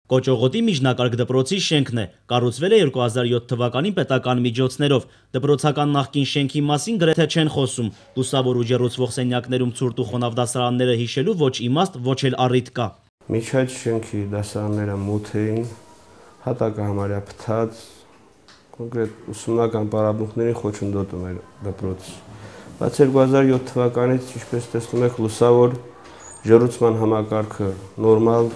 Կոճողոտի միջնակարգ դպրոցի շենքն է, կառուցվել է 2007 թվականին պետական միջոցներով, դպրոցական նախկին շենքի մասին գրեթե չեն խոսում, լուսավոր ու ջեռուցվող սենյակներում ցուրտ ու խոնավ դասարանները հիշելու ոչ իմաստ, ոչ էլ առիթ կա։ Միջայց շենքի դասարանները մութ էին, հատակը համարյա փտած, կոնկրետ ուսումնական պարապմունքների խոչընդոտում էր դպրոցը։ Բայց 2007 թվականից, ինչպես տեսնում եք, լուսավոր ջեռուցման համակարգը նորմալ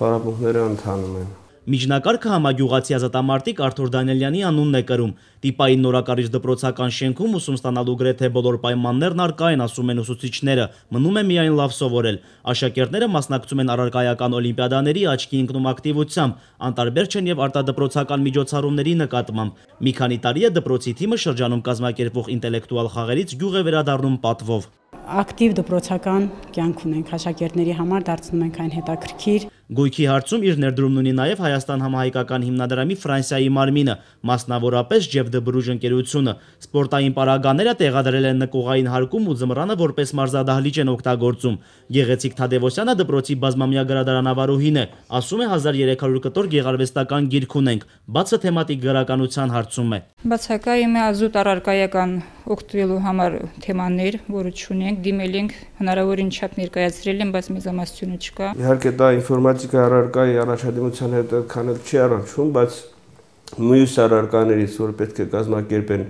պարապմունքները ընթանում են։ Միջնակարգը համագյուղացի ազատամարտիկ Արթուր Դանիելյանի անունն է կրում։ Տիպային նորակառիչ դպրոցական շենքում ուսում ստանալու գրեթե բոլոր պայմաններն առկա են, ասում են ուսուցիչները, մնում է միայն լավ սովորել։ Աշակերտները մասնակցում են առարկայական օլիմպիադաների աչքի ընկնում ակտիվությամբ, անտարբեր չեն եւ արտադպրոցական միջոցառումների նկատմամբ։ Մի քանի տարի է դպրոցի թիմը շրջանում կազմակերպվող ինտելեկտուալ խաղերից գյուղ է վերադառնում պատվով։ Ակտիվ դպրոցական կյանք ունենք, աշակերտների համար դարձնում ենք այն հետաքրքիր։ Գույքի հարցում իր ներդրումն ունի նաև Հայաստան համահայկական հիմնադրամի Ֆրանսիայի մարմինը, մասնավորապես Ջեֆ դը Բրուժ ընկերությունը։ Սպորտային պարագաները տեղադրել են նկուղային հարկում ու ձմռանը որպես մարզադահլիճ են օգտագործում։ Գեղեցիկ Թադևոսյանը դպրոցի բազմամյա գրադարանավարուհին է, ասում է 1300 կտոր գեղարվեստական գիրք ունենք, բացը թեմատիկ գրականության հարցում է։ Բացակայում է ազուտ առարկայական օգտվելու համար թեմաներ, որը չունենք, դիմել ենք, հնարավորին չափ ներկայացրել են, բայց մեծամասնությունը չկա։ Իհարկե դա ինֆորմատիկա առարկայի առաջադիմության հետ այդքան չի առնչվում, բայց մյուս առարկաներից, որ պետք է կազմակերպեն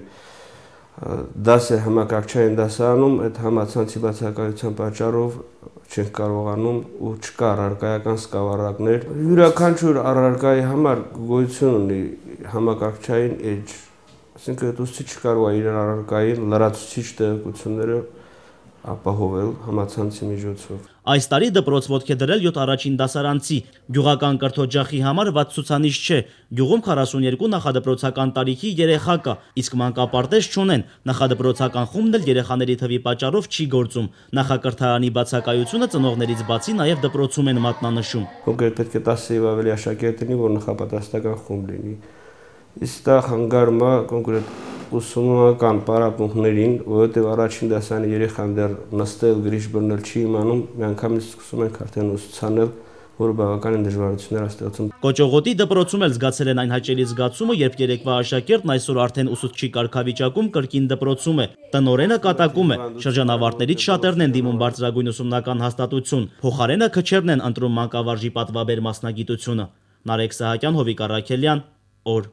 դասը համակարգչային դասարանում, այդ համացանցի բացակայության պատճառով չենք կարողանում ու չկա առարկայական սկավառակներ։ Յուրաքանչյուր առարկայի համար գոյություն ունի համակարգչային էջ, այսինքն ուսուցիչը կարող է իր առարկային լրացուցիչ տեղեկությունները ապահովել համացանցի միջոցով։ Այս տարի դպրոց ոտք է դրել 7 առաջին դասարանցի։ Գյուղական կրթօջախի համար վատ ցուցանիշ չէ։ Գյուղում 42 նախադպրոցական տարիքի երեխա կա, իսկ մանկապարտեզ չունեն։ Նախադպրոցական խումբն էլ երեխաների թվի պատճառով չի գործում։ Նախակրթարանի բացակայությունը ծնողներից բացի նաև դպրոցում են մատնանշում։ Կոնկրետ պետք է 10-ից ավելի աշակերտ լինի, որ նախապատրաստական խումբ լինի։ Իսկ դա խանգարում է կոնկրետ ուսումնական պարապմունքներին, որովհետև առաջին դասարանի երեխան դեռ նստել, գրիշ բռնել չի իմանում, միանգամից սկսում ենք արդեն ուսուցանել, որը բավականին դժվարություններ է ստեղծում։ Կոճողոտի դպրոցում էլ զգացել են այն հաճելի զգացումը, երբ երեկվա աշակերտն այսօր արդեն ուսուցչի կարգավիճակում կրկին դպրոցում է։ Տնօրենը կատակում է, շրջանավարտներից շատերն են դիմում բարձրագույն ուսումնական հաստատություն, փոխարենը քչերն են ընտրում մանկավարժի պատվաբեր մասնագիտությունը։ Նարեկ Սահակյան, Հովիկ Առաքելյան, օր։